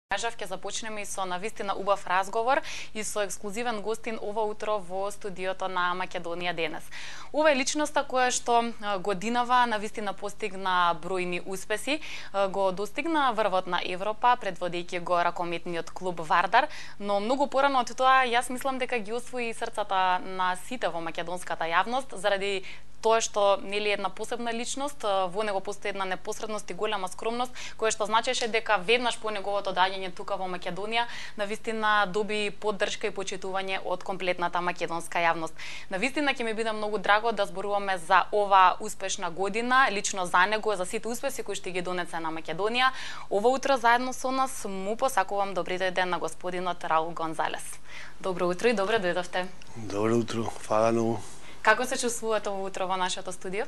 Ќе започнеме и со навистина убав разговор и со ексклузивен гостин ова утро во студиото на Македонија денес. Ова е личноста која што годинава навистина постигна бројни успеси, го достигна врвот на Европа предводејќи го ракометниот клуб Вардар, но многу порано од тоа јас мислам дека ги освои срцата на сите во македонската јавност заради тоа што нели една посебна личност, во него постои една непосредност и голема скромност, која што значеше дека веднаш по неговото доаѓање тука во Македонија, навистина доби поддршка и почитување од комплетната македонска јавност. Навистина ќе ми биде многу драго да зборуваме за ова успешна година, лично за него, за сите успеси кои што ги донесе на Македонија. Ова утро заедно со нас му посакувам добри ден на господинот Раул Гонзалес. Добро утро и добре дојдовте. Добро утро, фала многу. Како се чувствувате ова утро во нашето студио?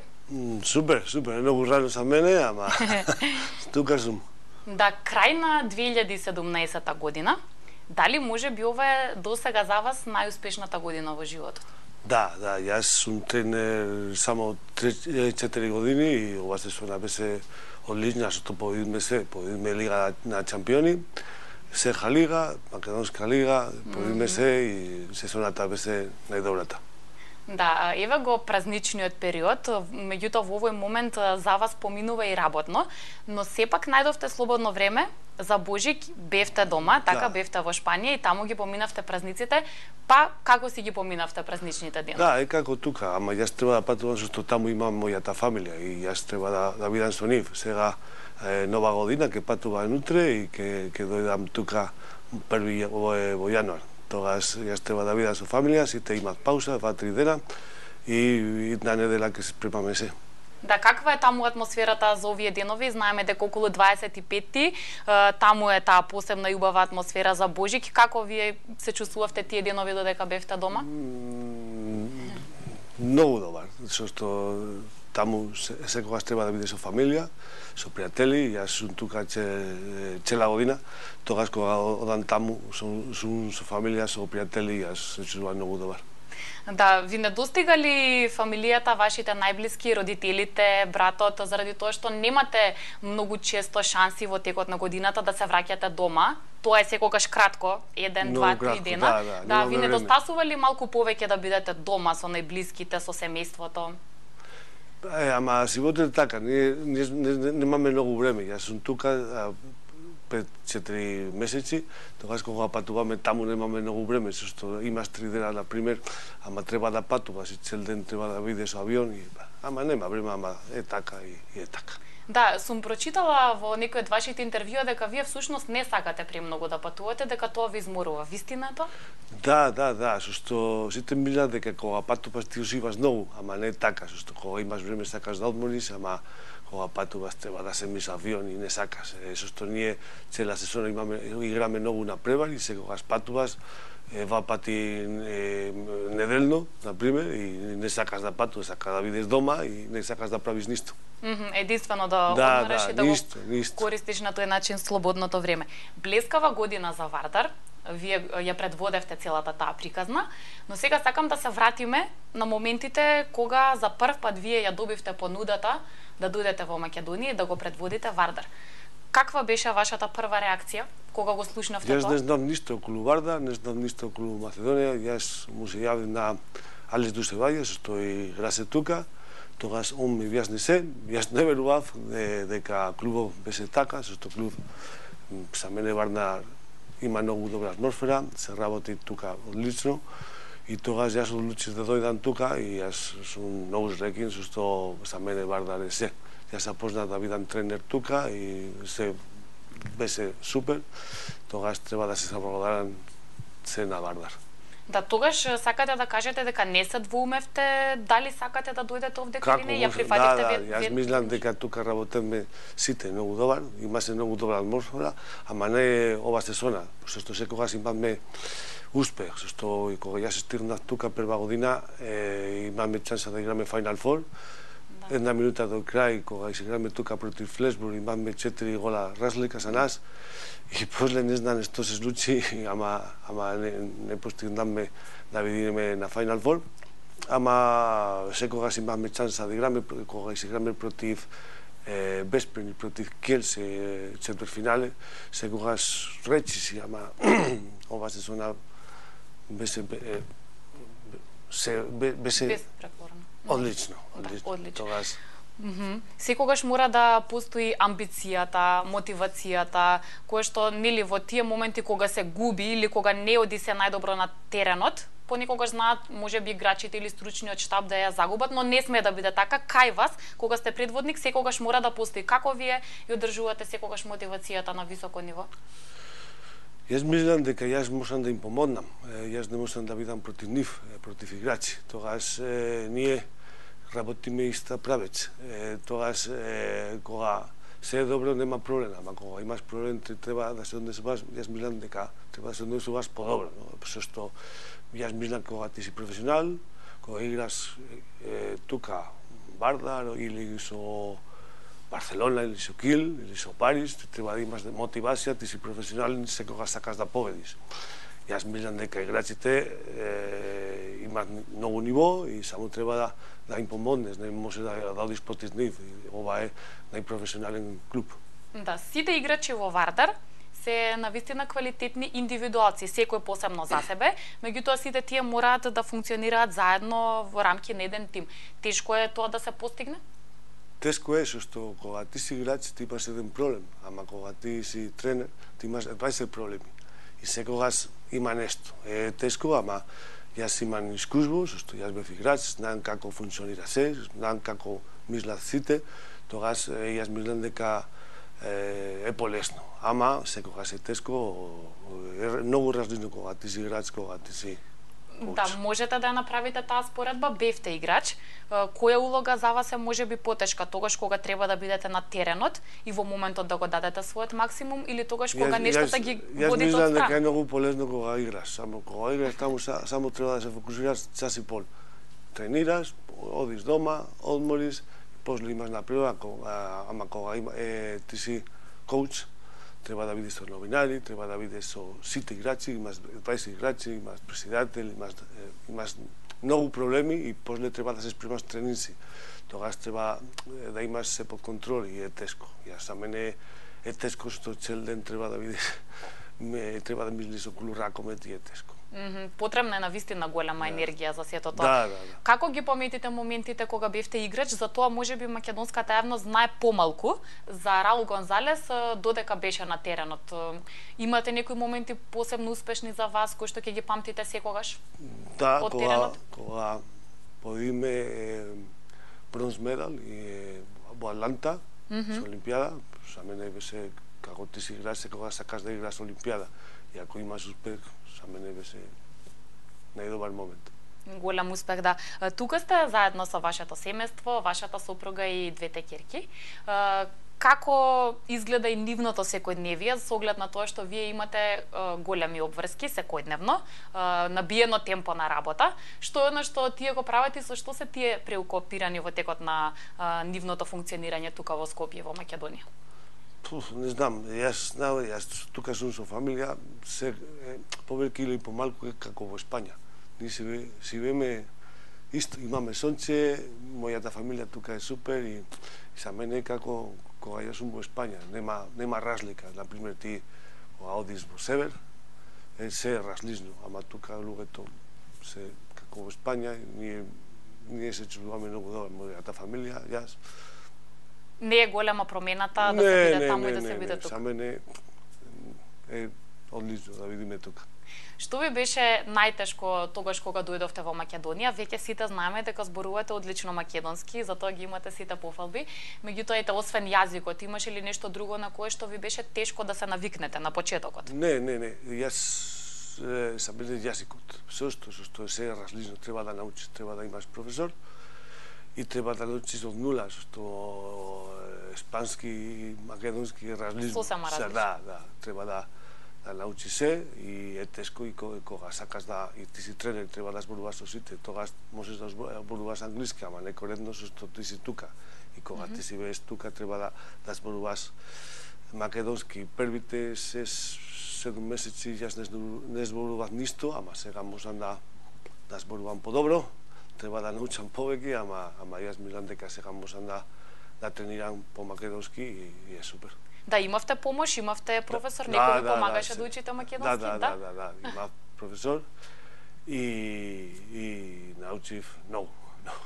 Супер, многу рано за мене, ама тука сум. Да, крај на 2017 година, дали може би ова е досега за вас најуспешната година во животот? Да, јас сум тренер само 4 години и ова сезона беше одлична, што победиме Лига на чемпиони, Серха Лига, Македонска Лига, победиме се и сезоната беше најдобрата. Да, еве го празничниот период, меѓутоа во овој момент за вас поминува и работно, но сепак најдовте слободно време за Божик, бевте дома, така бевте во Шпанија и таму ги поминавте празниците, па како си ги поминавте празничните денови? Да, е како тука, ама јас треба да патувам што таму имам мојата фамилија и јас треба да бидам со нив. Сега нова година ќе патувам утре и ќе дојдам тука први во јануар. Тогаш јас треба да видам со фамилија, сите имат пауза, 2-3 дена и на недела ќе се спремаме се. Да, каква е таму атмосферата за овие денови? Знаеме дека околу 25-ти, таму е таа посебна и убава атмосфера за Божик. Како вие се чувствувавте тие денови додека бевте дома? Многу добар, зашто таму секогаш треба да биде со фамилија, со пријатели, јас сум тука цела година, тогаш кога одам таму сум со фамилија, со пријатели, јас се чувствувам многу добар. Да, ви не достига ли фамилијата, вашите најблиски, родителите, братот, заради тоа што немате многу често шанси во текот на годината да се враќате дома? Тоа е секогаш кратко, 1, 2, 3 дена. Да, ви недостасува ли малку повеќе да бидете дома со најблиските, со семејството? Ама животот е така, немаме многу време. Јас сум тука 5-4 месеци, тогаш кога патуваме таму немаме многу време, зашто имаш 3 дена, например, ама треба да патуваш и цел ден треба да бидеш со авион, ама нема време, ама е така и е така. Да, сум прочитала во некој од вашите интервјуа дека вие всушност не сакате премногу да патувате, дека тоа ви изморува. Вистина е тоа? Да, зашто сите мислат дека кога патуваш ти уживаш многу, ама не е така, зашто кога имаш време сакаш да одмориш, ама кога патуваш треба да се миша авион и не сакаш. Зашто ние цела сезона играме многу на превари, секогаш патуваш 2 пати неделно, например, и не сакаш да патуваш, сакаш да бидеш дома и не сакаш да правиш ништо. Единствено да одмориш и да го користиш на тој начин слободното време. Блескава година за Вардар, вие ја предводевте целата таа приказна, но сега сакам да се вратиме на моментите кога за прв пат вие ја добивте понудата да дојдете во Македонија и да го предводите Вардар. Каква беше вашата прва реакција кога го слушнавте тоа? Јас не знам ништо околу Вардар, не знам ништо околу Македонија, јас му се јавив на Алес Дусеваѓе, што тој играше тука. Тогаш он ми објасни се, јас не верував дека клубот беше така, зашто клуб за мене Вардар има многу добра атмосфера, се работи тука одлично и тогаш јас одлучив да дојдам тука и јас сум многу среќен зашто за мене Вардар е се. Јас започнав да бидам тренер тука и се беше супер. Тогаш треба да се заблагодарам се на Вардар. Да, тогаш сакате да кажете дека не се двоумевте дали сакате да дојдете овде или не, ја прифативте јас мислам дека тука работиме сите многу добар, имаше многу добра атмосфера, ама не е ова сезона, зашто секогаш имаме успех, зашто кога јас стигнав тука прва година имаме шанса да играме Final Four. Една минута до крај, кога се играме тука против Флесбург, имаме 4 гола разлика за нас и после не знам што се случи, ама не постигнаме да видиме на Final Four. Ама секогаш имаме шанса да играме, кога се играме против Беспрени против Келсе, четвртфинале, секогаш речиси, ама ова сезона беше одлично. Тогаш секогаш мора да постои амбицијата, мотивацијата, кое што нели во тие моменти кога се губи или кога не оди се најдобро на теренот, понекогаш знаат можеби играчите или стручниот штаб да ја загубат, но не смее да биде така. Кај вас, кога сте предводник, секогаш мора да постои. Како вие ја одржувате секогаш мотивацијата на високо ниво? Јас мислам дека јас можам да им помогнам. Јас не можам да бидам против нив, против играчи. Тогаш ние работиме иста правец. Тогаш кога се е добро нема проблем, ама кога имаш проблем треба да се однесуваш, јас мислам дека треба да се однесуваш подобро, што јас мислам кога ти си професионал, кога играш тука Вардар или со Барселона или со Кил или со Парис, треба да имаш мотивација, ти си професионал и секогаш сакаш да победиш. Јас мислам дека играчите имаат многу ниво и само треба да им помогнеш, не може да одиш против нив. Ова е најпрофесионален клуб. Да, сите играчи во Вардар се навистина квалитетни индивидуалци, секој посебно за себе, меѓутоа сите тие мораат да функционираат заедно во рамки на еден тим. Тешко е тоа да се постигне? Тешко е, што кога ти си играч, ти имаш еден проблем, ама кога ти си тренер, ти имаш 20 проблеми. И секогаш има нешто. Е тешко, ама јас имам искуство, што јас бев играч, знам како функционира се, знам како мислат сите, тогаш јас мислам дека е полесно. Ама секогаш е тешко, е многу различно кога ти си играч, кога ти си коуч. Да, можете да направите таа споредба, бевте играч. Која улога за вас е можеби потешка, тогаш кога треба да бидете на теренот и во моментот да го дадете својот максимум или тогаш кога нештата ги водите од страна? Јас мислам дека е многу полезно кога играш, само кога играш таму само треба да се фокусираш час и пол. Тренираш, одиш дома, одмориш, после имаш напредок, ама кога ти си коуч, треба да видиш со новинари, треба да видиш со сите играчи, имаш 20 играчи, имаш председател, имаш многу проблеми и после треба да се спремаш тренинси. Тогаш треба да имаш се под контрол и е тешко. Јас за мене е тешко што цел ден треба да видиш, треба да мислиш околу ракомет и е тешко. Потребна е навистина голема енергија за сето тоа. Да. Како ги пометите моментите кога бевте играч, за тоа можеби македонската јавност знае помалку за Раул Гонзалес додека беше на теренот. Имате некои моменти посебно успешни за вас кои што ќе ги памтите секогаш? Да, кога победиме бронз медал и во Атланта со Олимпијада, за мене беше како ти си играч, секогаш сакаш да играш Олимпијада. И ако имаш успех, за мене беше најдобар момент. Голем успех, да. Тука сте заедно со вашето семејство, вашата сопруга и двете ќерки. Како изгледа и нивното секојдневие, со оглед на тоа што вие имате големи обврски секојдневно, набиено темпо на работа, што е она што тие го прават и со што се тие преокупирани во текот на нивното функционирање тука во Скопје, во Македонија? Не знам, јас тука сум со фамилија, се повелики или помалку како во Испања. Ние живееме исто, имаме сонце, мојата фамилија тука е супер и за мене како кога јас сум во Испања, нема разлика. Например, ти кога одиш во север, се е различно, ама тука луѓето се како во Испања, ние се чувствуваме многу добро, мојата фамилија, јас. Не е голема промената да се биде таму и да се биде тука? За мене е одлично да видиме тука. Што ви беше најтешко тогаш кога дојдовте во Македонија? Веќе сите знаеме дека зборувате одлично македонски, затоа ги имате сите пофалби. Меѓутоа, ете, освен јазикот, имаше ли нешто друго на кое што ви беше тешко да се навикнете на почетокот? Не. Јас за мене јазикот. Што се е различно, треба да научиш, треба да имаш професор и треба да научиш од нула, што испански и македонски е различно. Сосема различно. Да, треба да научи се и е тешко и кога сакаш да и ти си тренер, треба да зборуваш со сите, тогаш можеш да зборуваш англиски, ама не коректно што ти си тука. И кога ти си веш тука, треба да зборуваш македонски. Првите 7 месеци јас не зборував ништо, ама сега можам да зборувам подобро. Треба да научам повеќе, ама јас мислам дека сега можам да да тренирам по македонски и е супер. Да, имавте помош, имавте професор, некој ви помагаше да учите македонски, да, имав професор и научив многу.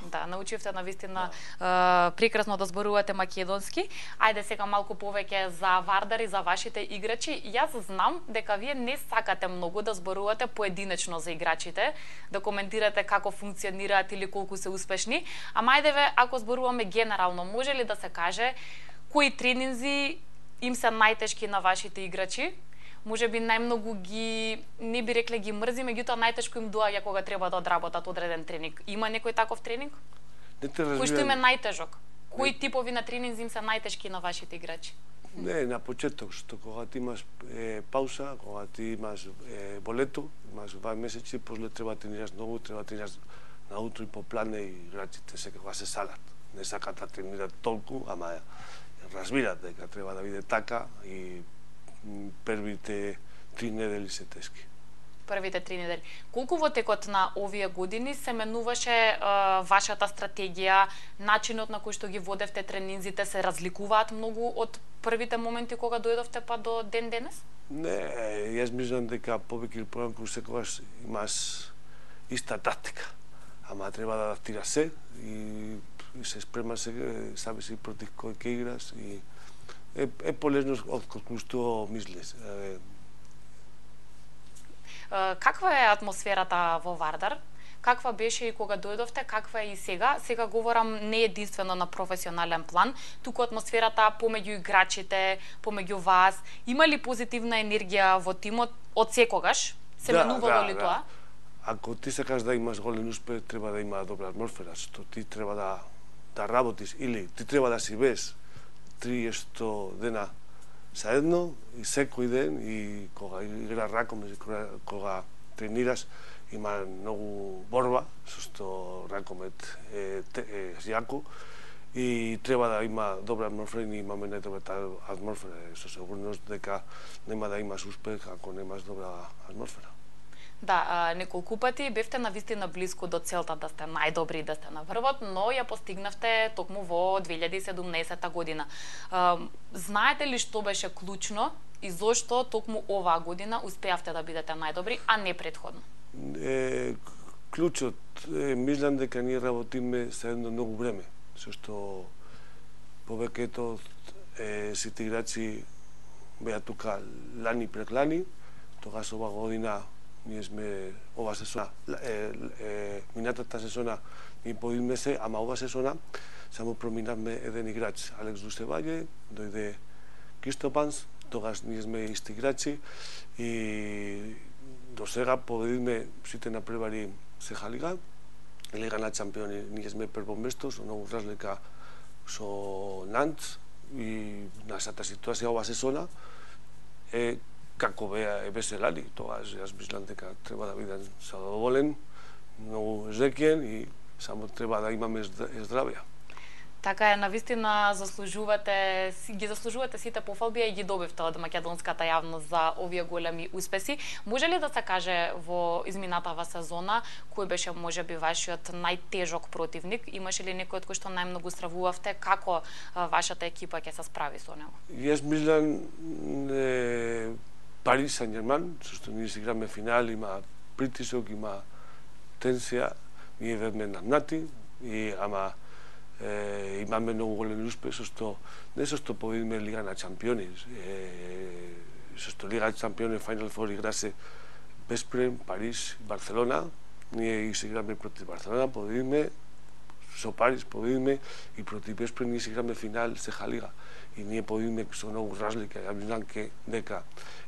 Да, научивте навистина прекрасно да зборувате македонски. Ајде сега малку повеќе за Вардар и за вашите играчи. Јас знам дека вие не сакате многу да зборувате поединечно за играчите, да коментирате како функционираат или колку се успешни, ама ајдеве ако зборуваме генерално, може ли да се каже кои тренинзи им се најтешки на вашите играчи? Може би најмногу ги, не би рекле ги мрзи, меѓутоа најтешко им доаѓа кога треба да одработат одреден тренинг. Има некој таков тренинг? Кој што им е најтежок? Кои типови на тренинзи им се најтешки на вашите играчи? Не, на почеток, што кога ти имаш пауза, кога ти имаш болето, имаш 2 месеци, после треба да тренираш многу, треба да тренираш наутро и по плане и играчите секогаш се салат. Не сакат да тренират толку, ама разбират дека треба да биде така и првите 3 недели се тешки. Првите 3 недели. Колку во текот на овие години се менуваше вашата стратегија, начинот на кој што ги водевте тренинзите се разликуваат многу од првите моменти кога дојдовте па до ден денес? Не, јас мислам дека повеќе или помалку секогаш имаш иста тактика, ама треба да адаптира се и се спрема се, саби си против кој ќе играш и е полезно од колку што мислиш. Каква е атмосферата во Вардар? Каква беше и кога дојдовте, каква е и сега? Сега говорам не единствено на професионален план, туку атмосферата помеѓу играчите, помеѓу вас. Има ли позитивна енергија во тимот од секогаш? Се менувало ли тоа? Ако ти сакаш да имаш голем успех, треба да има добра атмосфера, што ти треба да работиш или ти треба да си без 30 дена заедно и секој ден и кога игра ракомет, кога тренираш, има многу борба, што ракомет е јако и треба да има добра атмосфера и имаме најдобра атмосфера. Со сигурност дека нема да имаш успех ако немаш добра атмосфера. Да, неколку пати бевте навистина блиску до целта да сте најдобри и да сте на врвот, но ја постигнавте токму во 2017 година. Знаете ли што беше клучно и зошто токму оваа година успеавте да бидете најдобри, а не претходно? Клучот, мислам дека ние работиме заедно многу време, зашто повеќето сите играчи беа тука лани пред лани, тогаш ова година ние сме ова сезона, минатата сезона ние подиме се, ама ова сезона само проминавме еден играч, Алекс Дусеваје, дојде Кристопанс, тогаш ние сме исти играчи и до сега победиме сите напревари Сеха Лига, Лига на Чампиони, ние сме прво место, со многу разлика со Нант и нашата ситуација ова сезона е како беше лани, тогаш јас мислам дека треба да бидам задоволен, многу жекен и само треба да имаме здравје. Така е, навистина ги заслужувате сите пофалби и ги добивте од македонската јавност за овие големи успеси. Може ли да се каже во изминатава сезона кој беше можеби вашиот најтежок противник? Имаше ли некој од кој што најмногу стравувавте? Како вашата екипа ќе се справи со него? Јас мислам Парис Сен-Џерман, зашто ние си играме финал, има притисок, има тенсија, ние ведме наднати, ама имаме многу голем успех, не со што победиме Лига на Чампиони, со што Лига на Чампиони Final Four играсе Беспрем, Парис, Барселона, ние си играме против Барселона, победиме, со Парис победиме и против Беспрем ние си играме финал Сеха Лига. И ние победиме со многу разлика, ја мислам дека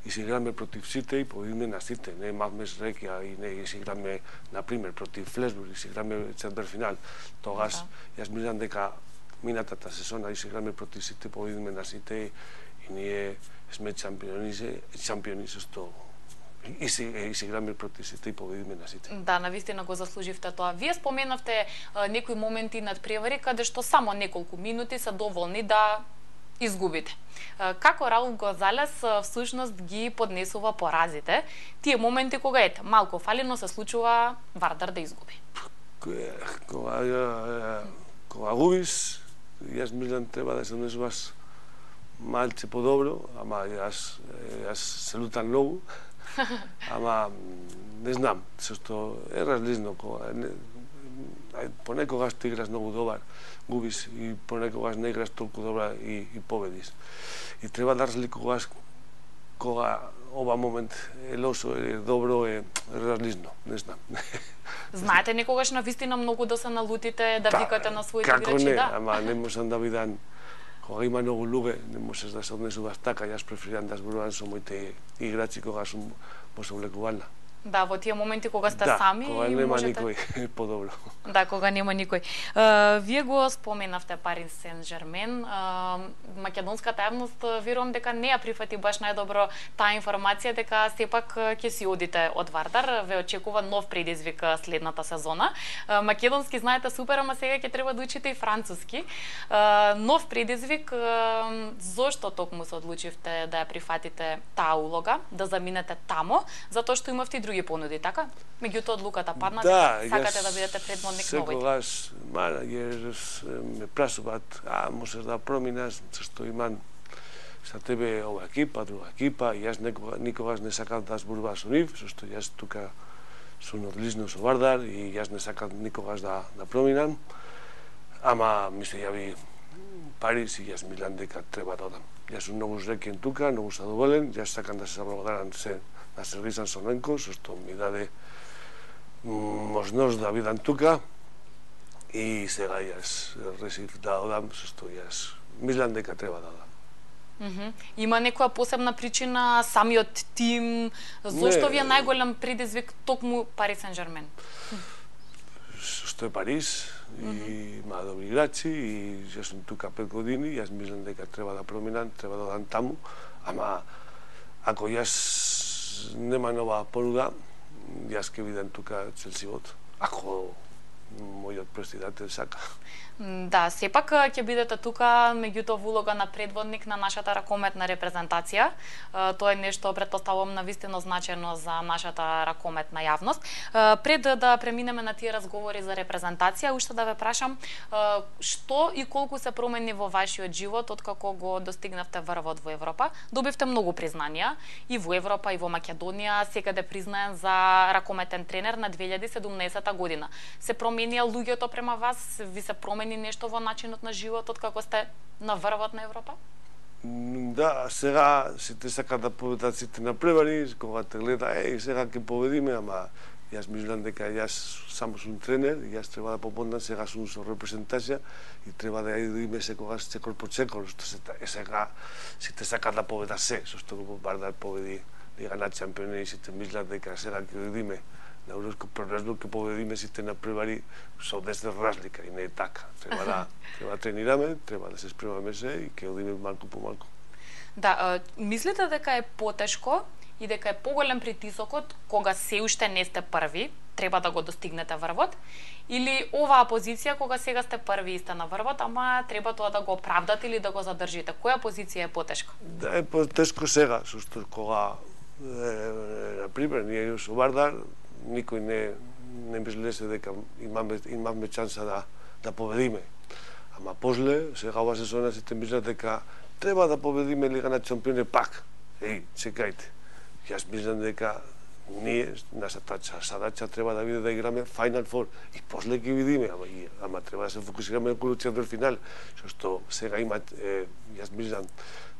и си играме против сите и победиме на сите, не имавме среќа и не си играме, например, против Флесбург и си играме четвртфинал. Тогаш јас мислам дека минатата сезона и си играме против сите, победиме на сите и ние сме шампиони со што и си играме против сите и победиме на сите. Да, навистина го заслуживте тоа. Вие споменавте некои моменти над превари каде што само неколку минути се доволни да изгубите. Како Раул Гонзалес всушност ги поднесува поразите? Тие моменти кога малку фалино се случува Вардар да изгуби. Кога губиш, јас мислам треба да се однесуваш малце подобро, ама јас се лутам многу, ама не знам, што е различно кога понекогаш ти играш многу добар, губиш и понекогаш не играш толку добра и победиш. И треба да разликуваш кога ова момент е лошо или добро е различно, не знам. Знаете некогаш на вистина многу да се налутите, да викате на своите играчи, како не, да? ама не можам да видам кога има многу луѓе, не можеш да се однесуваш така, јас преферирам да зборувам со моите играчи кога сум во сооблекувална. Да, во тие моменти кога сте сами и кога нема можете... никој, подобро. Да, кога нема никој. Вие го споменавте Парис Сен-Жермен. Македонската јавност верувам дека не ја прифати баш најдобро таа информација дека сепак ќе си одите од Вардар, ве очекува нов предизвик следната сезона. Македонски знаете супер, ама сега ќе треба да учите и француски. Нов предизвик, зошто токму се одлучивте да ја прифатите таа улога, да заминете тамо, затоа што имавте и други понуди, така? Меѓутоа одлуката падна, да, сакате да бидете предводник новој. Секогаш менаџер ме прашуваат, можеш да проминаш, зашто имам за тебе ова екипа, друга екипа, и јас никогаш не сакам да зборувам со нив, зашто јас тука сум одлично со Вардар и јас не сакам никогаш да проминам, ама ми се јави Парис и јас мислам дека треба да одам. Јас сум многу среќен тука, многу задоволен, јас сакам да се заблагодарам на Сергей Самсоненко, што ми даде можност да бидам тука и сега јас решив да одам, што јас мислам дека треба да одам. Има некоја посебна причина, самиот тим, зошто ви е најголем предизвик токму Парис Сен-Жермен? Што е Парис, и има добри играчи, и јас сум тука 5 години, јас мислам дека треба да проминам, треба да одам таму, ама ако јас нема нова понуда, јас ќе видам тука цел живот, ако мојот председател сака. Да, сепак ќе бидете тука, меѓутоа во улога на предводник на нашата ракометна репрезентација. Тоа е нешто, претпоставувам, навистина значајно за нашата ракометна јавност. Пред да преминеме на тие разговори за репрезентација, уште да ве прашам, што и колку се промени во вашиот живот откако го достигнавте врвот во Европа? Добивте многу признанија и во Европа и во Македонија, секаде признаен за ракометен тренер на 2017 година. Се променија луѓето према вас? Ви се промени нешто во начинот на животот како сте на врвот на Европа? Да, сега сите сакаат да победат сите на превари, кога те гледа, сега ќе победиме, ама јас мислам дека јас само сум тренер, јас треба да помогнам, сега сум со репрезентација и треба да ја идиме секогаш секор по секор, што сега сите сакаат да победат се, што го Вардар победи Лига на Чемпиони и сите мислат дека сега ќе идиме на Европско првенство, ќе победиме сите на превари со 10 разлика и не е така. Треба да тренираме, треба да се спремаме се и ќе одиме малку по малку. Да, мислите дека е потешко и дека е поголем притисокот кога се уште не сте први, треба да го достигнете врвот, или оваа позиција кога сега сте први и сте на врвот, ама треба тоа да го оправдате или да го задржите? Која позиција е потешко? Да, е потешко сега, што кога на пример ние со Вардар никој не мислеше дека имаме шанса да победиме. Ама после, сега ова сезона сите мислат дека треба да победиме Лига на Чемпиони пак. Чекајте. Јас мислам дека ние, нашата задача треба да биде да играме Final Four и после ќе видиме, ама треба да се фокусираме околу четвртфинал, што сега има, јас мислам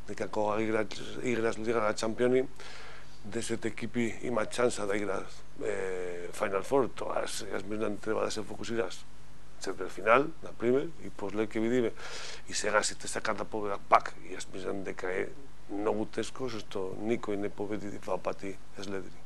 дека кога играш Лига на Чемпиони, 10 екипи имаат шанса да играат Final Four, тоа јас мислам треба да се фокусираш четвртфинал, например, и после ќе видиме. И сега сите сакаат да победат пак, и јас мислам дека е многу тешко, што никој не победи два пати следени.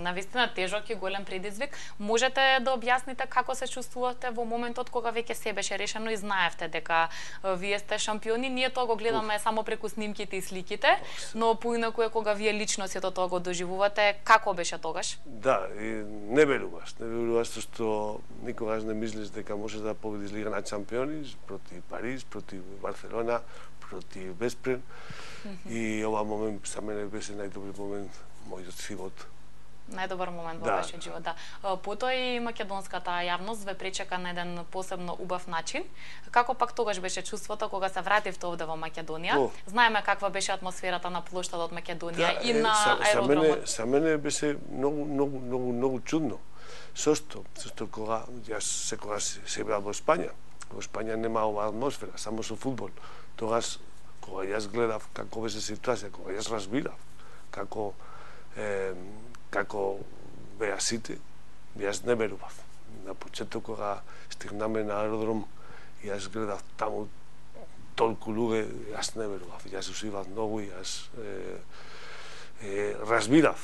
Навистина тежок и голем предизвик. Можете да објасните како се чувствувате во моментот кога веќе се беше решено и знаевте дека вие сте шампиони? Ние тоа го гледаме само преку снимките и сликите, но поинаку е кога вие лично сето тоа го доживувате. Како беше тогаш? Да, не веруваш, што никогаш не мислиш дека можеш да победиш Лига на Чемпиони против Париз, против Барселона, против Веспрем. И ова момент за мене беше најдобри момент мојот живот Најдобар момент во вашиот живот, да. Потоа и македонската јавност ве пречека на еден посебно убав начин. Како пак тогаш беше чувството кога се вративте овде во Македонија? Знаеме каква беше атмосферата на плоштадот Македонија и на аеродромот. За мене беше многу чудно. Зошто кога јас секогаш се беа во Испанија. Во Испанија нема оваа атмосфера, само со фудбал. Тогаш кога јас гледав како беше ситуација, кога јас разбирав како беа сите, јас не верував. На почеток кога стигнаме на аеродром, јас гледав таму толку луѓе, јас не верував. Јас уживав многу, јас разбирав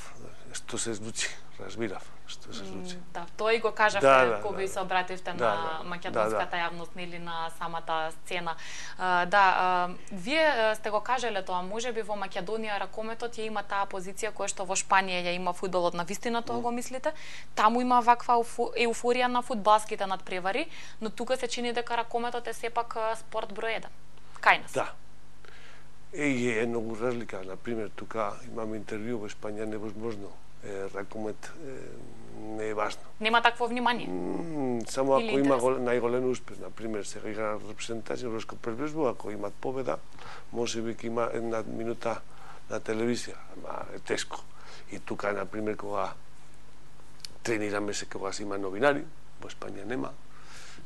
што се случи, што се случи. Да, тој го кажавте кога и се обративте на македонската јавност или на самата сцена. Вие сте го кажале тоа, можеби во Македонија ракометот ја има таа позиција која што во Шпанија ја има фудбалот, на вистина тоа го мислите? Таму има ваква еуфорија на фудбалските надпревари, но тука се чини дека ракометот е сепак спорт број 1. Кај нас? Да. Е многу разлика, например, тука имаме интервју во Шпанија, невозможно. Ракомет не е важно. Нема такво внимание? Само ако има најголем успех, например, сега игра репрезентација Европско првенство, ако имат победа, може би ќе има една минута на телевизија, ама е тешко. И тука, например, кога тренираме се, кога се има новинари, во Испанија нема,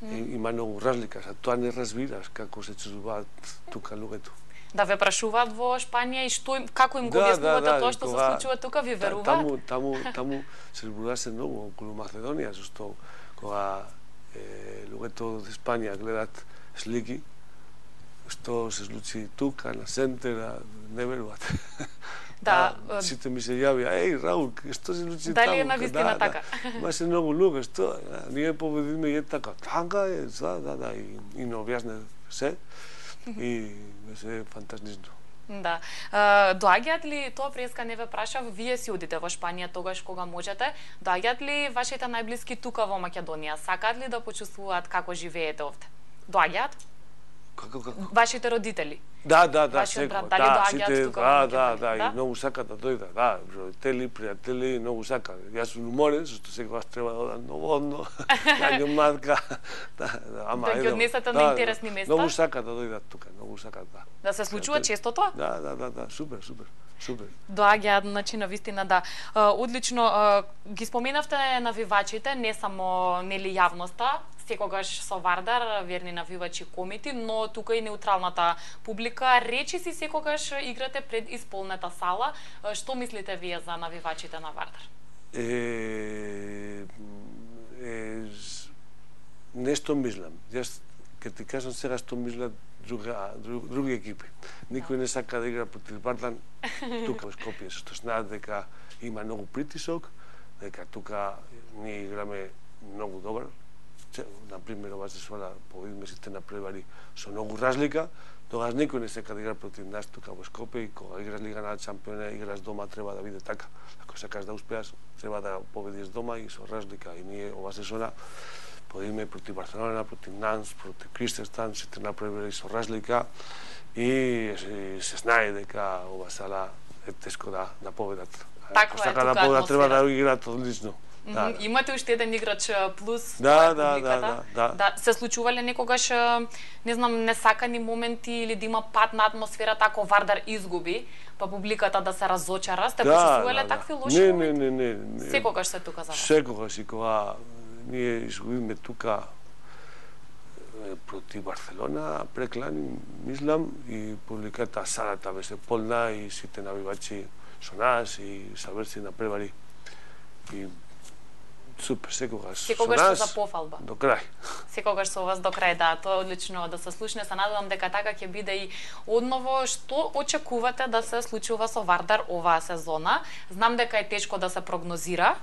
има многу разлика, за тоа не разбираш како се чувствуваат тука луѓето. Да ве прашуваат во Шпанија и како им го објаснувате тоа што се случува тука, ви веруваат? Таму се зборуваше многу околу Македонија, зашто кога луѓето од Испанија гледат слики што се случи тука на центера, не веруваат. Сите ми се јавија, Раул, што се случи таму? Дали е навистина така? Имаше многу луѓе, што ние победиме и така е, и не објасне се. И беше фантастично. Да. Доаѓаат ли, тоа преска не ве прашав, вие си одите во Шпанија тогаш кога можете, доаѓаат ли вашите најблиски тука во Македонија? Сакаат ли да почувствуваат како живеете овде? Доаѓаат? Како? Вашите родители? Да, вашиот брат, дали доаѓаат тука во Македонија? И многу сакаат да дојдат, родители, пријатели, многу сакаат. Јас сум уморен, зашто секогаш треба да одам новодно, јаѓу матка. Да ги однесете на интересни места? Многу сакаат да дојдат тука, многу сакаат, да. Да се случува често тоа? Да, супер. Доаѓаат, значи, на вистина, да. Одлично, ги споменавте навивачите, не само нели јавноста, секогаш со Вардар, верни навивачи комити, но тука и неутралната публика. Речи си секогаш играте пред исполнета сала. Што мислите вие за навивачите на Вардар? Нешто мислам. Јас ќе ти кажам сега што мислат други екипи. Никој не сака да игра против Вардар тука во Скопје, што знаат дека има многу притисок, дека тука ние играме многу добар. Например, ова сезона победиме сите надпревари со многу разлика, тогаш никој не сака да игра против нас тука во Скопје, и кога играш Лига на Шампиони, играш дома, треба да биде така. Ако сакаш да успеаш, треба да победиш дома и со разлика. И ние ова сезона победиме против Барселона, против Нанс, против Кристенстан, сите надпревари со разлика, и се знае дека ова сала е тешко да победат. Ако сака да победат, треба да играат одлично. Имате уште еден играч плюс публиката. Да, се случувале некогаш, не знам, несакани моменти или да има пат на атмосферата ако Вардар изгуби, па публиката да се разочара? Сте почувствувале такви лоши моменти? Не. Секогаш се тука за вас? Секогаш, и кога ние изгубиме тука против Барселона, преклани, мислам, и публиката салата беше полна и сите навивачи со нас и саверци на превари. И супер, секогаш со нас за пофалба. До крај. Секогаш со вас до крај, да, тоа е одлично да се слушне. Се надевам дека така ќе биде и одново. Што очекувате да се случува со Вардар оваа сезона? Знам дека е тешко да се прогнозира,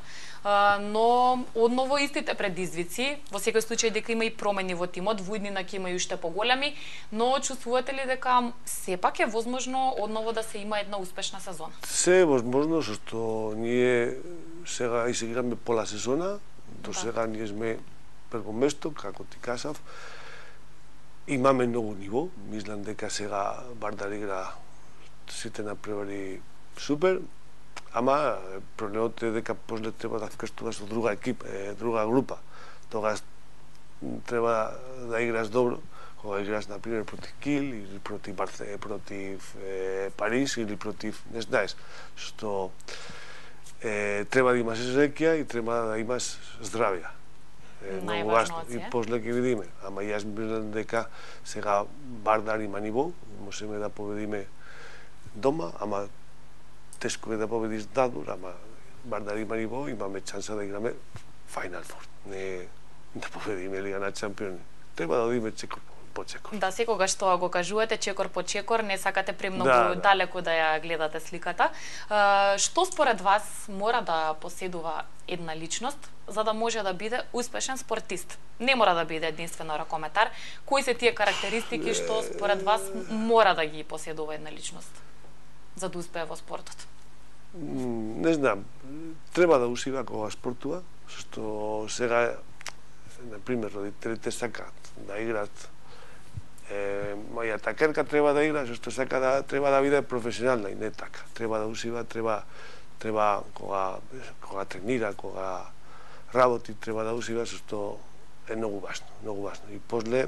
но одново истите предизвици, во секој случај дека има и промени во тимот, во иднина ќе има и уште поголеми, но чувствувате ли дека сепак е возможно одново да се има една успешна сезона? Се е возможно, што ние сега изиграме пола сезона, до сега ние сме прво место, како ти кажав. Имаме многу ниво, мислам дека сега Вардар игра сите надпревари супер, Ама проблемот е дека после треба да вкрстуваш со друга екипа, друга група. Тогаш треба да играш добро, кога играш на пример против Кил или против Париз или против, не знаеш, што треба да имаш среќа и треба да имаш здравје. Многу важно. И после ќе видиме. Ама јас мислам дека сега Вардар има ниво, можеме да победиме дома, ама тешко е да победиш надвор, ама Вардар има ниво, имаме шанса да играме Final Four. Не да победиме Лига на Чемпиони. Треба да одиме чекор по чекор. Да, секогаш тоа го кажувате, чекор по чекор, не сакате премногу далеко да ја гледате сликата. Што според вас мора да поседува една личност за да може да биде успешен спортист? Не мора да биде единствено ракометар. Кои се тие карактеристики што според вас мора да ги поседува една личност за да успее во спортот? Не знам. Треба да ушива кога спортува, што сега, например, родителите сакаат да играат. Моја такерка треба да игра, што сака да треба да биде професионална и не така. Треба да ушива, треба кога тренира, кога работи, треба да ушива, што е многу важно, многу важно. И после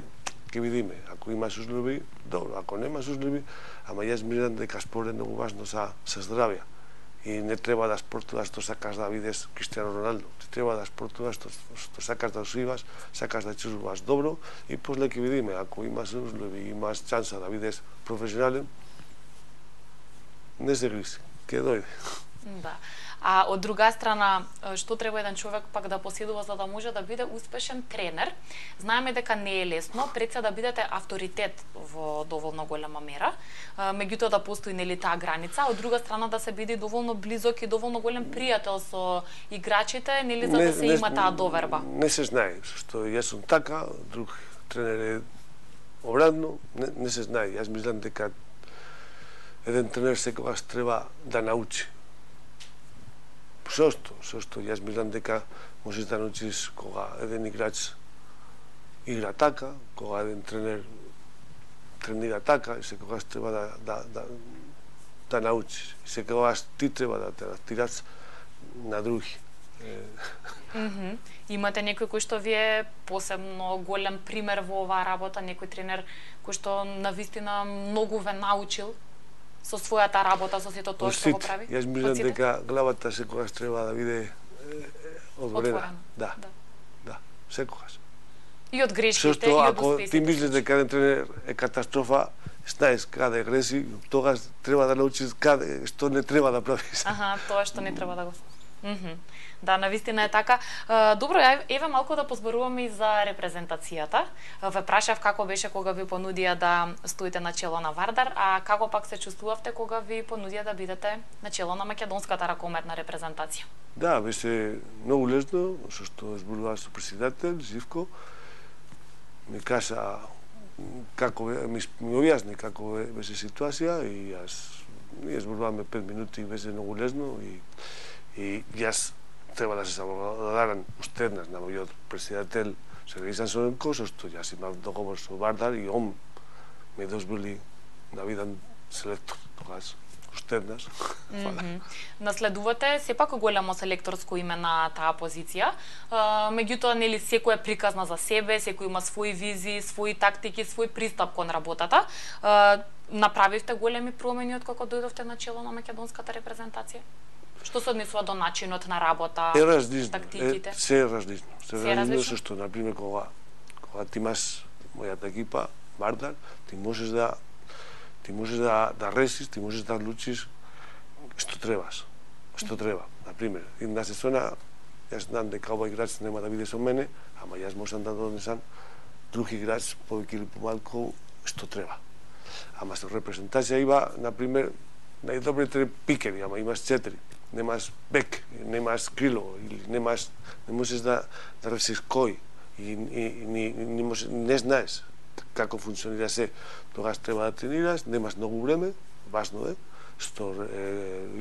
ќе видиме, ако имаш услови, добро, ако немаш услови, ама јас мислам дека спорт е многу важно за здравје. И не треба да спортуваш што сакаш да видиш Криштијано Роналдо. Треба да спортуваш што сакаш да ушиваш, сакаш да чувствуваш добро и после ќе видиме, ако имаш услови, имаш шанса да видиш професионален, не се гризи, ќе дојде. Да. А од друга страна, што треба еден човек пак да поседува за да може да биде успешен тренер? Знаеме дека не е лесно, пред се да бидете авторитет во доволно голема мера, меѓутоа да постои нели таа граница, од друга страна да се биде доволно близок и доволно голем пријател со играчите, нели за да се има таа доверба. Не се знае, што јас сум така, друг тренер е обратно, не се знае. Јас мислам дека еден тренер секогаш треба да научи. Сошто, јас мислам дека можеш да научиш кога еден играч игра така, кога еден тренер тренира така, и секогаш треба да научиш. И секогаш ти треба да те адаптираш на други. Имате некој кој што ви е посебно голем пример во оваа работа, некој тренер кој што навистина многу ве научил со својата работа, со сето тоа што го прави? Јас мислам дека главата секогаш треба да биде отворена. Да, секогаш. И од грешките, и од успесите. Ако ти мислиш дека еден тренер е катастрофа, знаеш каде греши, тогаш треба да научиш каде, што не треба да правиш. Тоа што не треба да го... Да, навистина е така. Добро, еве малку да позборуваме и за репрезентацијата. Ве прашав како беше кога ви понудија да стоите на чело на Вардар, а како пак се чувствувавте кога ви понудија да бидете на чело на македонската ракометна репрезентација? Да, беше многу лесно, што зборував со председател Живко. Ми кажа како ми објасни како беше ситуација и ние зборуваме 5 минути и беше многу лесно и јас треба да се заблагодарам уште еднаш на мојот председател Сергеј Сансоненко, што јас имав договор со Вардар и он ме дозволи да бидам селектор. Тогаш уште еднаш. Наследувате сепак големо селекторско име на таа позиција. Меѓутоа нели секој е приказна за себе, секој има своји визии, своји тактики, свој пристап кон работата. Направивте големи промени од кога дојдовте на чело на македонската репрезентација? Што се однесува до начинот на работа, тактиките? Се е различно. Се е различно, што, например, кога ти имаш мојата екипа, Вардар, ти можеш да решиш, ти можеш да одлучиш што требаш. Што треба. Например, една сезона, јас знам дека овој играч нема да биде со мене, ама јас можам да донесам друг играч, повеќе или помалку, што треба. Ама со репрезентација има, например, најдобрите пикери, ама имаш 4. Немаш бек, немаш крило, или не можеш да решиш кој и не знаеш како функционира се. Тогаш треба да тренираш, немаш многу време, важно е, што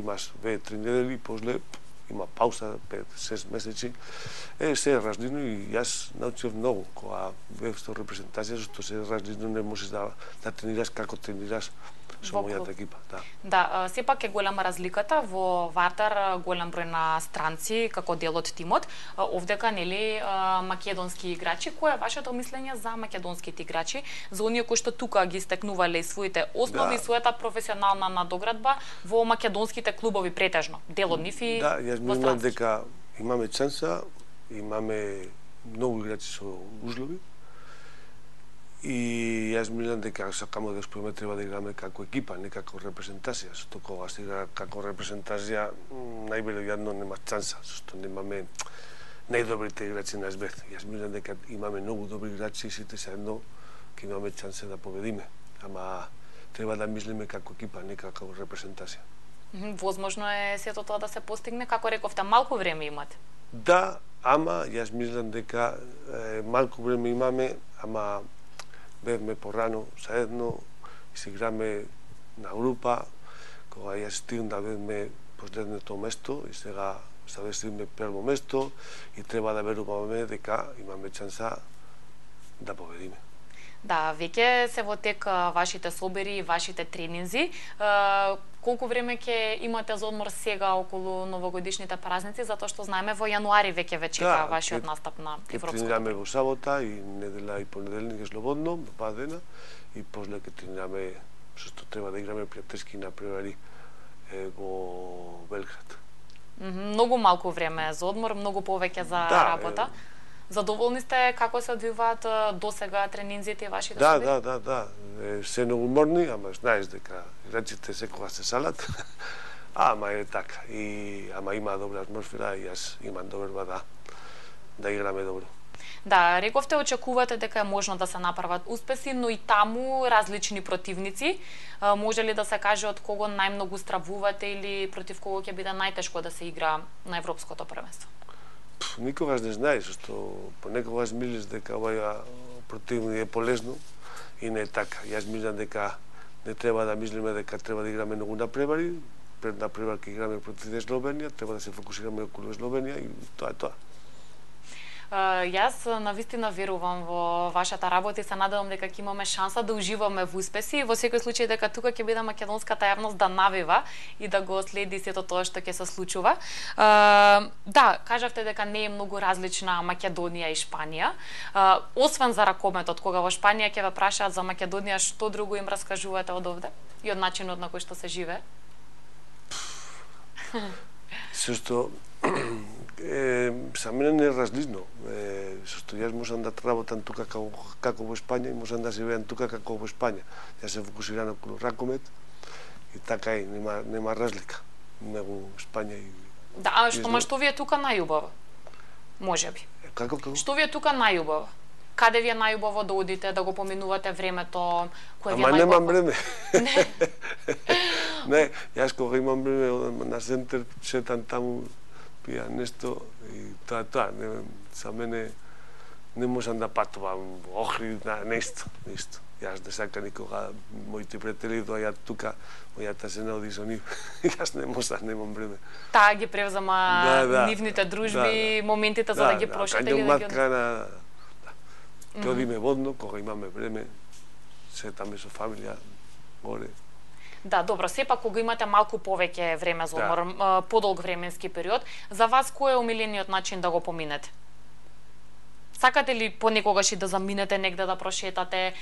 имаш 2-3 недели, после има пауза 5-6 месеци. Се е различно и јас научив многу кога бев со репрезентација, што се различно не можеш да тренираш како тренираш со мојата екипа, да. Да, сепак е голема разликата во Вардар, голем број на странци како дел од тимот. Овдека нели македонски играчи, кое е вашето мислење за македонските играчи, за оние кои што тука ги стекнувале своите основи, својата професионална надоградба во македонските клубови претежно, дел од нив и да, јас мислам дека имаме шанса, имаме многу играчи со ужлови. И јас мислам дека сакамо да успееме, треба да играме како екипа, не како репрезентација. Што кога се игра како репрезентација, најверојатно нема шанса, зашто немаме најдобрите играчи на свет. Јас мислам дека имаме многу добри играчи и сите заедно ќе имаме шанса да победиме. Ама треба да мислиме како екипа, не како репрезентација. Возможно е сето тоа да се постигне, како рековте, малку време имате. Да, ама јас мислам дека малку време имаме, ама бевме порано заедно и се играме на група, кога јас стигнав да бевме последното место и сега стигнаме прво место и треба да веруваме дека имаме шанса да победиме. Да, веќе се во тек вашите собери и вашите тренинзи. Колку време ќе имате за одмор сега околу новогодишните празници, затоа што знаеме во јануари веќе чека вашиот настап на европското. Тренираме во сабота и недела и понеделник е слободно, два дена, и после ќе тренираме што треба да играме пријателски на превари во Белград. Многу малку време за одмор, многу повеќе за работа. Задоволни сте како се одвиваат досега тренинзите и вашите собери? Да. Се многу уморни, ама знаеш дека играчите секогаш се салат. Ама е така. Ама има добра атмосфера и јас имам доверба да играме добро. Да, рековте, очекувате дека е можно да се направат успеси, но и таму различни противници. Може ли да се каже од кого најмногу стравувате или против кого ќе биде најтешко да се игра на европското првенство? Никогаш не знаеш, што понекогаш мислиш дека овај противник е полезно и не е така. Јас мислам дека не треба да мислиме дека треба да играме многу на превари. Пред на превар ќе играме против Словенија, треба да се фокусираме околу Словенија и тоа е тоа. Јас навистина верувам во вашата работа и се надевам дека ќе имаме шанса да уживаме во успеси. Во секој случај дека тука ќе биде македонската јавност да навива и да го следи сето тоа што ќе се случува. Да, кажавте дека не е многу различна Македонија и Шпанија. Освен за ракометот, кога во Шпанија ќе ве прашаат за Македонија, што друго им раскажувате од овде и од начинот на кој што се живее? Се што за мене не е различно. Што јас можам да работам тука како во Шпања и можам да живеам тука како во Шпања. Јас се фокусирам околу ракомет и така и нема разлика меѓу Шпања и... Да, што ви е тука најубаво? Можеби. Како? Што ви е тука најубаво? Каде ви е најубаво да одите, да го поминувате времето, кое ви е најубаво? Ама немам време. Не, јас кога имам време на центар, шетам таму, пија нешто и тоа. За мене не можам да патувам во Охрид, нешто. Јас не сакам никога моите пријатели доаѓаат тука, мојата жена оди со нив. Јас не можам, немам време. Таа ги превзема нивните дружби, моментите за да ги прошете или да ги... Ќе одиме водно, кога имаме време, сетаме со фамилија, горе. Да, добро, сепак кога имате малку повеќе време за одмор, подолг временски период, за вас кој е омилениот начин да го поминете? Сакате ли понекогаш и да заминете негде да прошетате,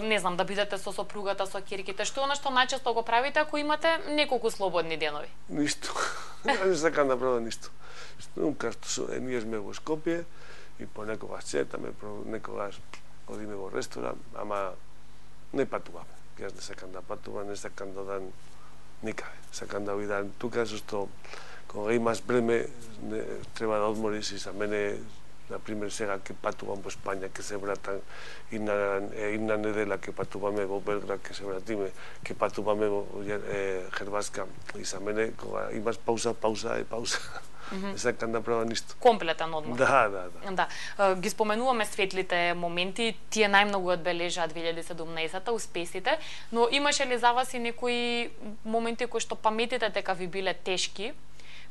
не знам, да бидете со сопругата, со ќерките, што е она што најчесто го правите ако имате неколку слободни денови? Ништо. Не сакам да правам ништо. Ние сме во Скопје и понекогаш сетаме, некогаш одиме во ресторан, ама не патуваме. Јас не сакам да патувам, не сакам да одам никаде. Сакам да бидам тука, зашто кога имаш време треба да одмориш и за мене, например, сега ќе патувам во Шпања, ќе се вратам и на недела ќе патуваме во Белград, ќе се вратиме, ќе патуваме во Хрватска и за мене кога имаш пауза е пауза. Не сакам да правам ништо. Комплетен одмор. Да. Ги споменуваме светлите моменти, тие најмногу одбележаат 2017-та, успесите, но имаше ли за вас и некои моменти кои што паметите дека ви биле тешки,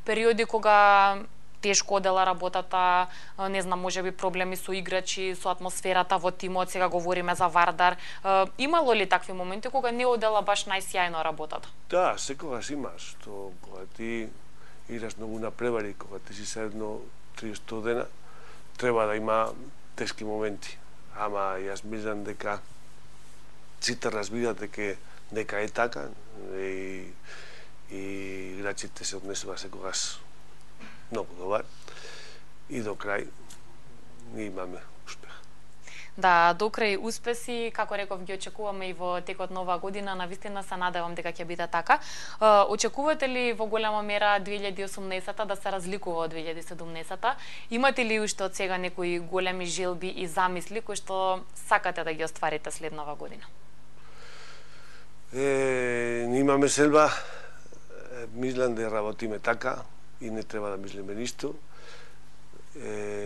периоди кога тешко одела работата, не знам, можеби проблеми со играчи, со атмосферата во тимот, сега говориме за Вардар. Имало ли такви моменти кога не одела баш најсјајно работата? Да, секогаш имаш, што кога ти играш многу на превари, кога ти си седно 30 дена, треба да има тешки моменти. Ама јас мислам дека сите разбират дека е така и играчите се однесува секогаш многу добар и до крај ние имаме успех. Да, до крај успеси, како реков, ги очекуваме и во текот на оваа година, навистина се надевам дека ќе биде така. Очекувате ли во голема мера 2018-та да се разликува од 2017-та? Имате ли уште од сега некои големи желби и замисли кои што сакате да ги остварите следнава година? Ние имаме селба, мислам да работиме така и не треба да мислиме ништо.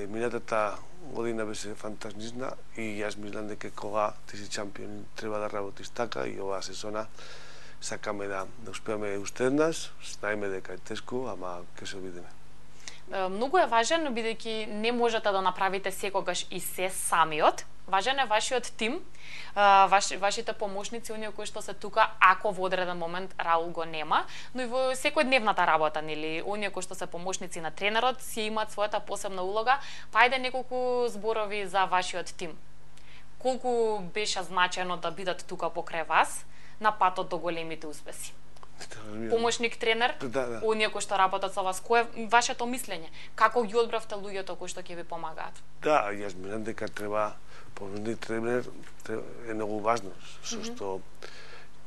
Минатата година беше фантастична и јас мислам дека кога ти си чемпион треба да работиш така и оваа сезона сакаме да успееме уште еднаш, знаеме дека е тешко, ама ќе се видиме. Многу е важен, бидејќи не можете да направите секогаш и се самиот. Важен е вашиот тим, вашите помошници, оние кои што се тука, ако во одреден момент Раул го нема, но и во секојдневната работа, нели, оние кои што се помошници на тренерот, си имаат својата посебна улога. Па ајде неколку зборови за вашиот тим. Колку беше значајно да бидат тука покрај вас на патот до големите успеси? Помошник тренер, да. оние кои што работат со вас, кое е вашето мислење? Како ги одбравте луѓето кои што ќе ви помагаат? Да, јас мислам дека треба помошник тренер е многу важно, што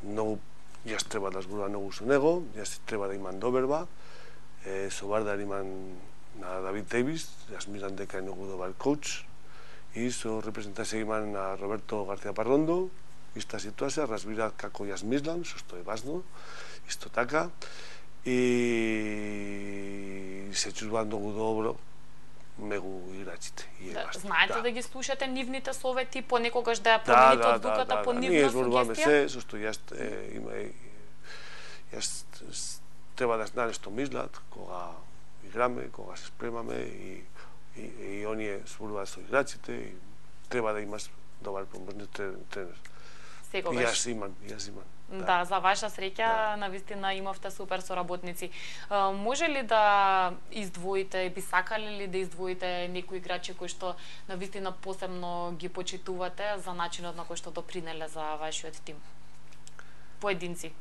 многу јас треба да зборувам многу со него, јас треба да имам доверба. Со Вардар имам на Давид Дейвис, јас мислам дека е многу добар коуч, и со репрезентација имам на Роберто Гарција Паррондо, иста ситуација, разбираат како јас мислам, што е важно, исто така, и се чувствувам многу добро мегу играчите. Знаете да ги слушате нивните совети, понекогаш да ја промените одлуката по нивна ние зборуваме сугестија? се, со што јас треба да знаат што мислат кога играме, кога се спремаме и оние зборуваат со играчите и треба да имаш добар помошник тренер. Секогаш. Јас имам. Да, за ваша среќа, навистина имавте супер соработници. Може ли да издвоите, би сакале ли да издвоите некои играчи кои што навистина посебно ги почитувате за начинот на кој што допринеле за вашиот тим? Поединци.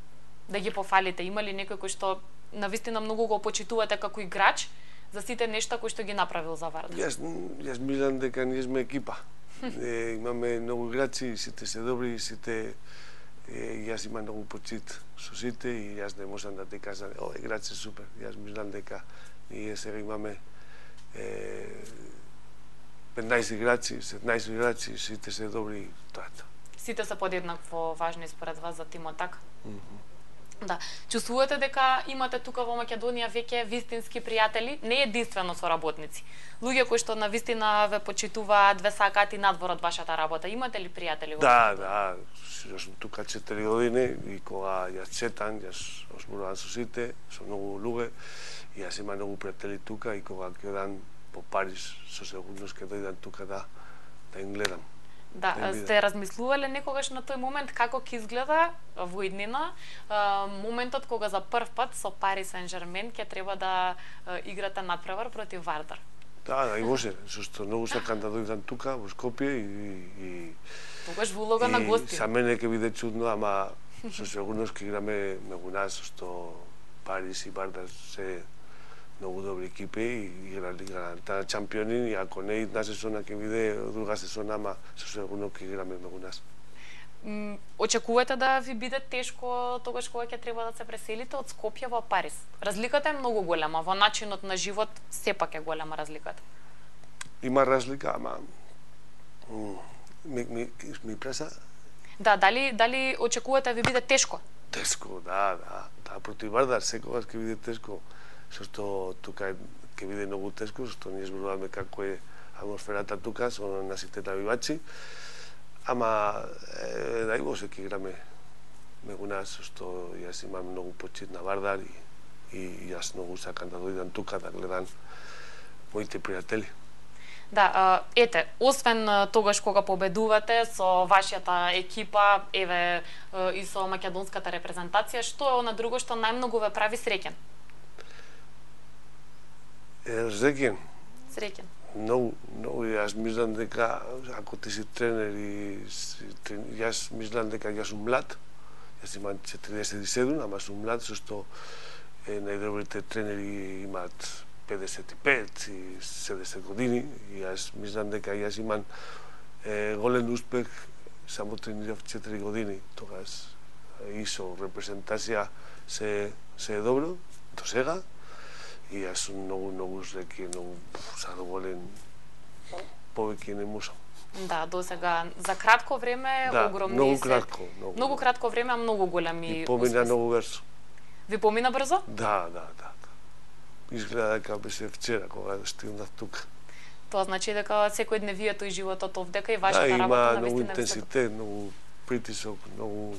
Да ги пофалите. Има ли некој кој што навистина многу го почитувате како играч за сите нешта кои што ги направил за Вардар? Јас мислам дека ние сме екипа. Имаме многу играчи, сите се добри, сите јас имам многу почит со сите и јас не можам да ти кажам, играч е супер. Јас мислам дека ние сега имаме 15 играчи, 17 играчи, сите се добри, тоа. Сите се подеднакво важни според вас за тимот, така? Да. Чувствувате дека имате тука во Македонија веќе вистински пријатели, не единствено соработници. Луѓе кои што навистина ве почитуваат, ве сакаат и надвор од вашата работа. Имате ли пријатели во Македонија? Да, јас сум тука 4 години и кога јас четам, јас зборувам со сите, со многу луѓе, и јас имам многу пријатели тука и кога ќе одам по Париз, со сигурност ќе дојдам тука да им гледам. Да, сте размислувале некогаш на тој момент како ќе изгледа во иднина моментот кога за прв пат со Пари Сен-Жермен ќе треба да играте надпревар против Вардар? Да, и може, зашто многу сакам да дојдам тука во Скопје и тогаш во улога на гости. За мене ќе биде чудно, ама со сигурност ќе играме мегу нас, што Парис и Вардар се многу добри екипи и играат чемпиони, и ако не една сезона ќе биде друга сезона, ама со сигурно ќе играме мегу нас. Очекувате да ви биде тешко тогаш кога ќе треба да се преселите од Скопје во Париз? Разликата е многу голема, во начинот на живот сепак е голема разликата. Има разлика, ама ми преса? Да, дали очекувате да ви биде тешко? Тешко, да, против Вардар секогаш ќе биде тешко. Што тука ќе биде многу тешко, што ние зборуваме како е атмосферата тука со нашите навивачи. Ама дај Боже ќе играме мегу нас, што јас имам многу почит на Вардар и јас многу сакам да дојдам тука да гледам моите пријатели. Да, ете, освен тогаш кога победувате со вашата екипа, еве и со македонската репрезентација, што е она друго што најмногу ве прави среќен? Среќен? Среќен. Многу, јас мислам дека ако ти си тренер и јас мислам дека јас сум млад, јас имам 47, ама сум млад, со што најдобрите тренери имаат 55 и 70 години, и јас мислам дека јас имам голем успех, само тренирав 4 години, тогаш и со репрезентација се е добро до сега, и јас сум многу среќен, многу задоволен, повеќе не можам. Да, до сега за кратко време, огромни многу се... кратко. Многу кратко време, а многу големи и помина многу брзо. Ви помина брзо? Да. Изгледа дека беше вчера кога стигнав тука. Тоа значи дека секојдневието и животот овдека и вашата работа има навистина многу интензитет, многу притисок, многу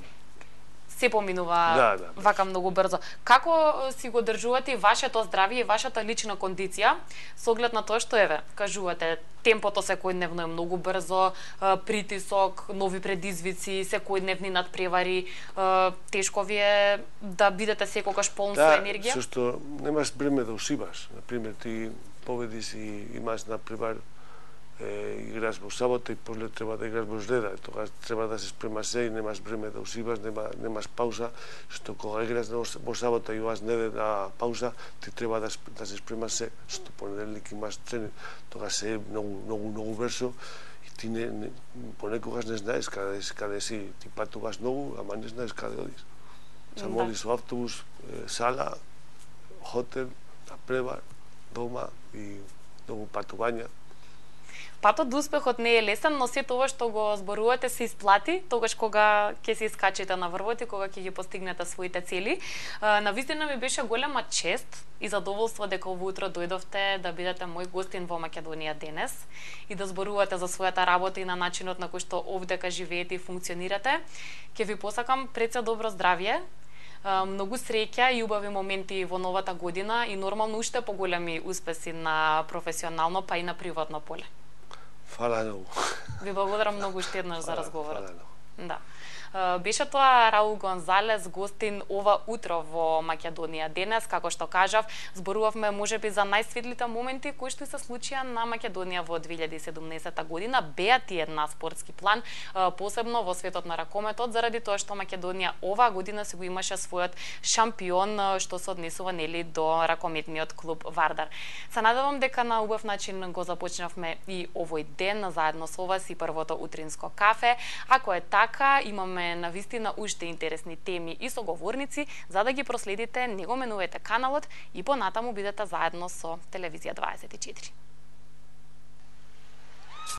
се поминува вака многу брзо. Како си го држувате вашето здравје и вашата лична кондиција со оглед на тоа што еве, кажувате, темпото секојдневно е многу брзо, притисок, нови предизвици, секојдневни надпревари, тешко ви е да бидете секогаш полн со енергија? Да, што немаш време да усиваш. Например, ти победиш и имаш надпревар, играш во сабота и после треба да играш во среда, тогаш треба да се спремаш се и немаш време да усиваш, немаш пауза, што кога играш во сабота и имаш неделна пауза, ти треба да се спремаш се, што понеделник имаш тренинг, тогаш се е многу брзо и ти понекогаш не знаеш каде си, ти патуваш многу, ама не знаеш каде одиш. Само одиш во автобус, сала, хотел, надпревар, дома и многу патувања. Патот до успехот не е лесен, но сето ова што го зборувате се исплати, тогаш кога ќе се искачите на врвот и кога ќе ги постигнете своите цели. Навистина ми беше голема чест и задоволство дека ово утро дојдовте да бидете мој гостин во Македонија денес и да зборувате за својата работа и на начинот на кој што овдека живеете и функционирате. Ќе ви посакам пред се добро здравје, многу среќа и убави моменти во новата година и нормално уште поголеми успеси на професионално па и на приватно поле. Фала многу. Ви благодарам многу уште еднаш за разговорот. Да. Беше тоа Раул Гонзалес, гостин ова утро во Македонија денес. Како што кажав, зборувавме можеби за најсветлите моменти кои што се случија на Македонија во 2017 година. Беа тие на спортски план, посебно во светот на ракометот, заради тоа што Македонија оваа година се го имаше својот шампион што се однесува нели до ракометниот клуб Вардар. Се надевам дека на убав начин го започнавме и овој ден заедно со вас и првото утринско кафе. Ако е така, имаме навистина уште интересни теми и соговорници, за да ги проследите, не го менувате каналот и понатаму бидете заедно со Телевизија 24.